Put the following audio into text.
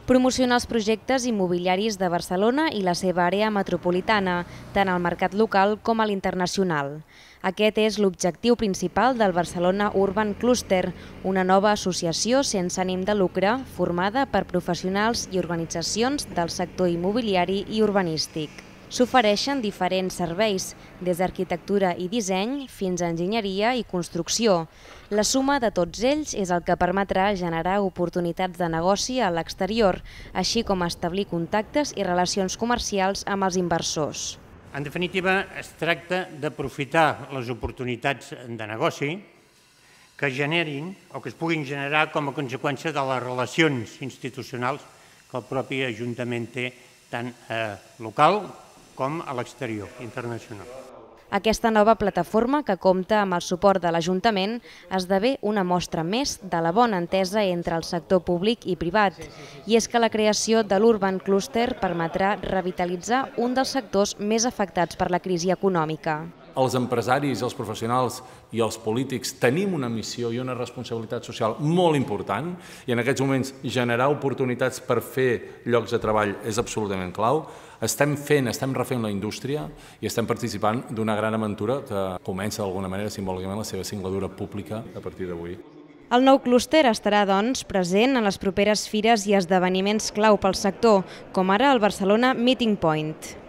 Promocionar els projectes immobiliaris de Barcelona i la seva àrea metropolitana, tant al mercat local com a l'internacional. Aquest és l'objectiu principal del Barcelona Urban Cluster, una nova associació sense ànim de lucre formada per professionals i organitzacions del sector immobiliari i urbanístic. S'ofereixen diferents serveis, des d'arquitectura i disseny fins a enginyeria i construcció. La suma de tots ells és el que permetrà generar oportunitats de negoci a l'exterior, així com establir contactes i relacions comercials amb els inversors. En definitiva, es tracta d'aprofitar les oportunitats de negoci que generin o que es puguin generar com a conseqüència de les relacions institucionals que el propi Ajuntament té tant local com a l'exterior, internacional. Aquesta nova plataforma, que compta amb el suport de l'Ajuntament, esdevé una mostra més de la bona entesa entre el sector públic i privat. I és que la creació de l'Urban Cluster permetrà revitalitzar un dels sectors més afectats per la crisi econòmica. Els empresaris, els professionals i els polítics tenim una missió i una responsabilitat social molt important i en aquests moments generar oportunitats per fer llocs de treball és absolutament clau. Estem refent la indústria i estem participant d'una gran aventura que comença d'alguna manera simbòlicament la seva singladura pública a partir d'avui. El nou clúster estarà, doncs, present en les properes fires i esdeveniments clau pel sector, com ara el Barcelona Meeting Point.